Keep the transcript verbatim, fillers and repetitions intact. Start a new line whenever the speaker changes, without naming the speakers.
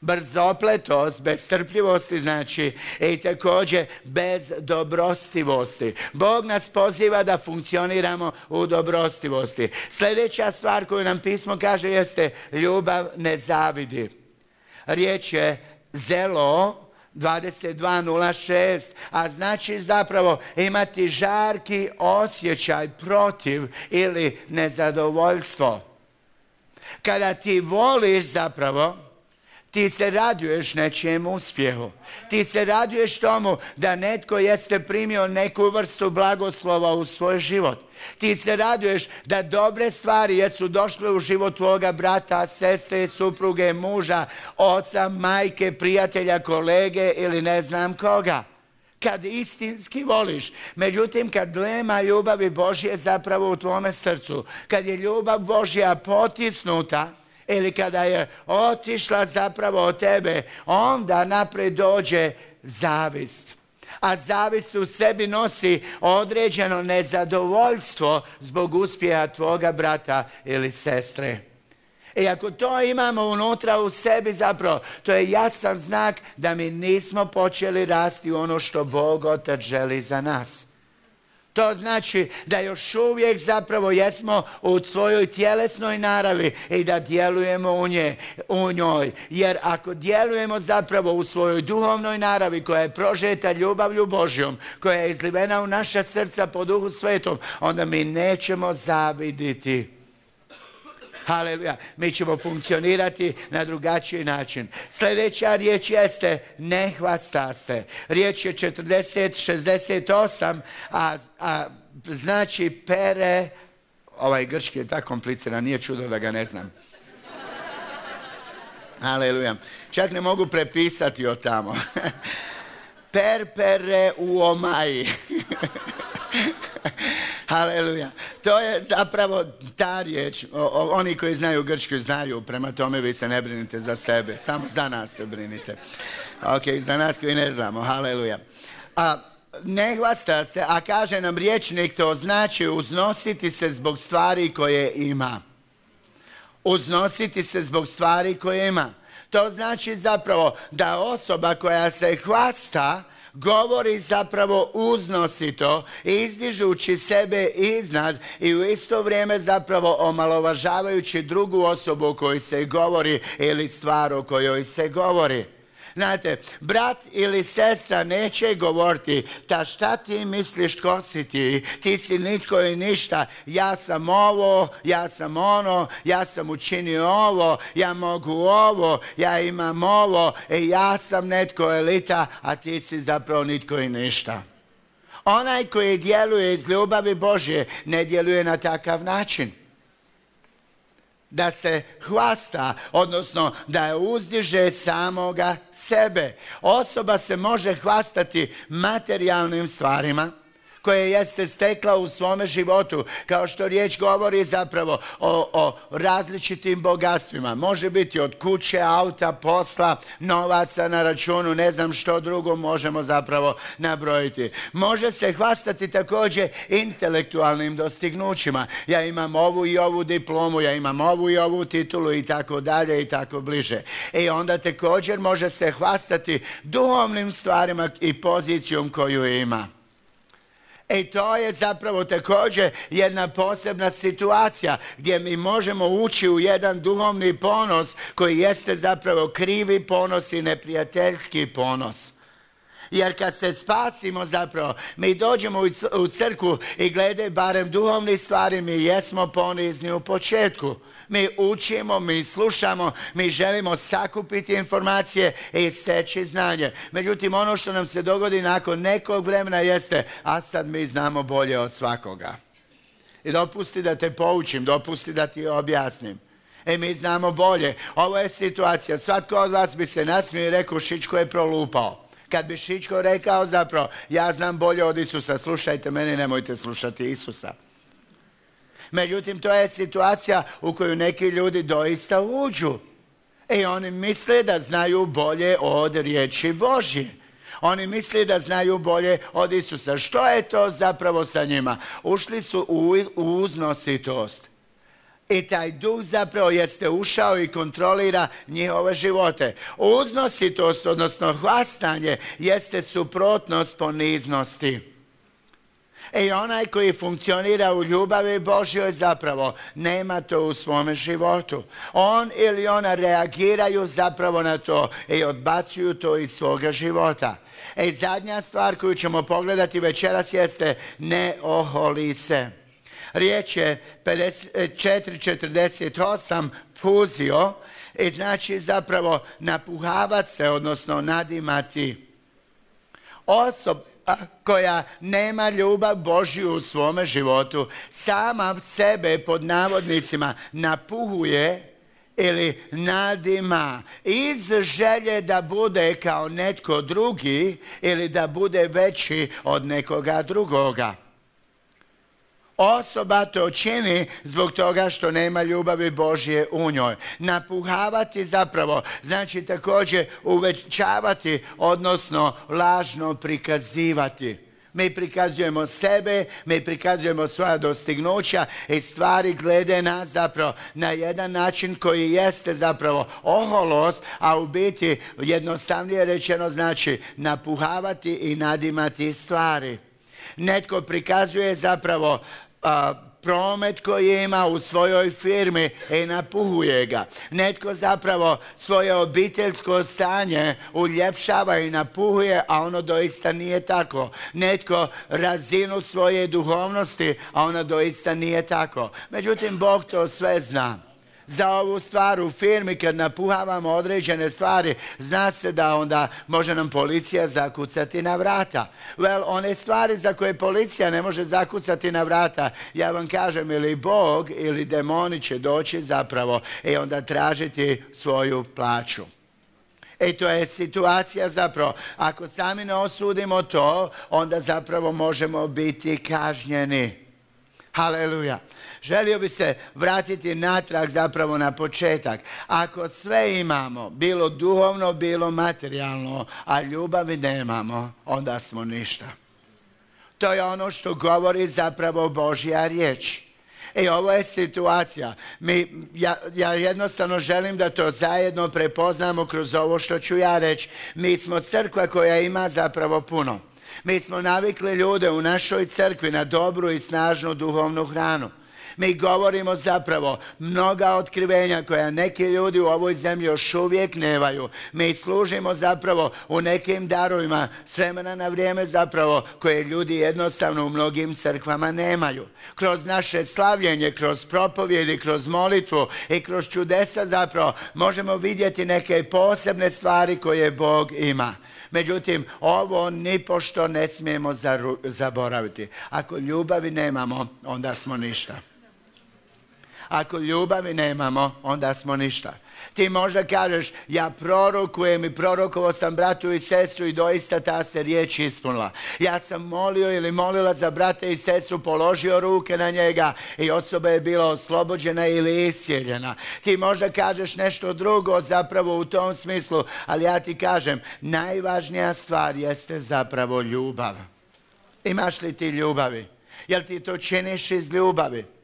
Brzopletost, bez strpljivosti znači i također bez dobrostivosti. Bog nas poziva da funkcioniramo u dobrostivosti. Sljedeća stvar koju nam pismo kaže jeste ljubav ne zavidi. Riječ je zelo dvadeset dva nula šest, a znači zapravo imati žarki osjećaj protiv ili nezadovoljstvo. Kada ti voliš zapravo, ti se raduješ nečijem uspjehu. Ti se raduješ tomu da netko jeste primio neku vrstu blagoslova u svoj život. Ti se raduješ da dobre stvari jesu došle u život tvoga brata, sestre, supruge, muža, oca, majke, prijatelja, kolege ili ne znam koga. Kad istinski voliš. Međutim, kad nema ljubavi Božje zapravo u tvome srcu, kad je ljubav Božja potisnuta, ili kada je otišla zapravo od tebe, onda naprijed dođe zavist. A zavist u sebi nosi određeno nezadovoljstvo zbog uspjeha tvoga brata ili sestre. I ako to imamo unutra u sebi zapravo, to je jasan znak da mi nismo počeli rasti u ono što Bog Otac želi za nas. To znači da još uvijek zapravo jesmo u svojoj tjelesnoj naravi i da djelujemo u, nje, u njoj. Jer ako djelujemo zapravo u svojoj duhovnoj naravi koja je prožeta ljubavlju Božjom, koja je izlivena u naša srca po Duhu Svetom, onda mi nećemo zaviditi. Haleluja. Mi ćemo funkcionirati na drugačiji način. Sljedeća riječ jeste ne hvasta se. Riječ je četrdeset šezdeset osam, a, a znači pere, ovaj grčki je tako kompliciran, nije čudo da ga ne znam. Haleluja. Čak ne mogu prepisati od tamo. Per pere u omaji. Haleluja. To je zapravo ta riječ. O, o, oni koji znaju grčku znaju, prema tome vi se ne brinite za sebe. Samo za nas se brinite. Ok, za nas koji ne znamo. Haleluja. A ne hvasta se, a kaže nam rječnik, to znači uznositi se zbog stvari koje ima. Uznositi se zbog stvari koje ima. To znači zapravo da osoba koja se hvasta govori zapravo uznosito, izdižući sebe iznad i u isto vrijeme zapravo omalovažavajući drugu osobu o kojoj se govori ili stvar o kojoj se govori. Znate, brat ili sestra neće govoriti, ta šta ti misliš tko si ti, ti si nitko i ništa, ja sam ovo, ja sam ono, ja sam učinio ovo, ja mogu ovo, ja imam ovo, e, ja sam netko elita, a ti si zapravo nitko i ništa. Onaj koji djeluje iz ljubavi Božje ne djeluje na takav način. Da se hvasta, odnosno da uzdiže samoga sebe. Osoba se može hvastati materijalnim stvarima koje jeste stekla u svome životu, kao što riječ govori zapravo o, o različitim bogatstvima. Može biti od kuće, auta, posla, novaca na računu, ne znam što drugo možemo zapravo nabrojiti. Može se hvastati također intelektualnim dostignućima. Ja imam ovu i ovu diplomu, ja imam ovu i ovu titulu i tako dalje i tako bliže. I onda također može se hvastati duhovnim stvarima i pozicijom koju ima. I to je zapravo također jedna posebna situacija gdje mi možemo ući u jedan duhovni ponos koji jeste zapravo krivi ponos i neprijateljski ponos. Jer kad se spasimo zapravo, mi dođemo u crkvu i glede barem duhovnih stvari, mi jesmo ponizni u početku. Mi učimo, mi slušamo, mi želimo sakupiti informacije i steći znanje. Međutim, ono što nam se dogodi nakon nekog vremena jeste, a sad mi znamo bolje od svakoga. I dopusti da te poučim, dopusti da ti objasnim. E, mi znamo bolje. Ovo je situacija, svatko od vas bi se nasmio i rekao, Šičko je prolupao. Kad bi Šičko rekao zapravo, ja znam bolje od Isusa, slušajte mene, nemojte slušati Isusa. Međutim, to je situacija u koju neki ljudi doista uđu. I oni misle da znaju bolje od riječi Božje. Oni misle da znaju bolje od Isusa. Što je to zapravo sa njima? Ušli su u uznositost. I taj duh zapravo jeste ušao i kontrolira njihove živote. Uznositost, odnosno hvastanje, jeste suprotnost poniznosti. I onaj koji funkcionira u ljubavi Božjoj zapravo nema to u svome životu. On ili ona reagiraju zapravo na to i odbacuju to iz svoga života. I zadnja stvar koju ćemo pogledati večeras jeste ne oholi se. Riječ je četiri četrdeset osam puzio i znači zapravo napuhavati se, odnosno nadimati. Osoba koja nema ljubav Božju u svome životu, sama sebe pod navodnicima napuhuje ili nadima iz želje da bude kao netko drugi ili da bude veći od nekoga drugoga. Osoba to čini zbog toga što nema ljubavi Božje u njoj. Napuhavati zapravo znači također uvećavati, odnosno lažno prikazivati. Mi prikazujemo sebe, mi prikazujemo svoja dostignuća i stvari glede nas zapravo na jedan način koji jeste zapravo oholost, a u biti jednostavnije rečeno znači napuhavati i nadimati stvari. Netko prikazuje zapravo a, promet koji ima u svojoj firmi i napuhuje ga. Netko zapravo svoje obiteljsko stanje uljepšava i napuhuje, a ono doista nije tako. Netko razinu svoje duhovnosti, a ona doista nije tako. Međutim, Bog to sve zna. Za ovu stvar u firmi kad napuhavamo određene stvari, zna se da onda može nam policija zakucati na vrata. Well, one stvari za koje policija ne može zakucati na vrata, ja vam kažem, ili Bog ili demoni će doći zapravo i onda tražiti svoju plaću. I to je situacija zapravo, ako sami ne osudimo to, onda zapravo možemo biti kažnjeni. Haleluja. Želio bi se vratiti natrag zapravo na početak. Ako sve imamo, bilo duhovno, bilo materijalno, a ljubavi nemamo, onda smo ništa. To je ono što govori zapravo Božja riječ. I ovo je situacija. Mi, ja, ja jednostavno želim da to zajedno prepoznamo kroz ovo što ću ja reći. Mi smo crkva koja ima zapravo puno. Mi smo navikli ljude u našoj crkvi na dobru i snažnu duhovnu hranu. Mi govorimo zapravo mnoga otkrivenja koja neki ljudi u ovoj zemlji još uvijek nemaju. Mi služimo zapravo u nekim darovima s vremena na vrijeme zapravo koje ljudi jednostavno u mnogim crkvama nemaju. Kroz naše slavljenje, kroz propovjedi, kroz molitvu i kroz čudesa zapravo možemo vidjeti neke posebne stvari koje Bog ima. Međutim, ovo nipošto ne smijemo zaboraviti. Ako ljubavi nemamo, onda smo ništa. Ako ljubavi nemamo, onda smo ništa. Ti možda kažeš, ja prorokujem i prorokovao sam bratu i sestru i doista ta se riječ ispunila. Ja sam molio ili molila za brata i sestru, položio ruke na njega i osoba je bila oslobođena ili iscijeljena. Ti možda kažeš nešto drugo zapravo u tom smislu, ali ja ti kažem, najvažnija stvar jeste zapravo ljubav. Imaš li ti ljubavi? Jel ti to činiš iz ljubavi?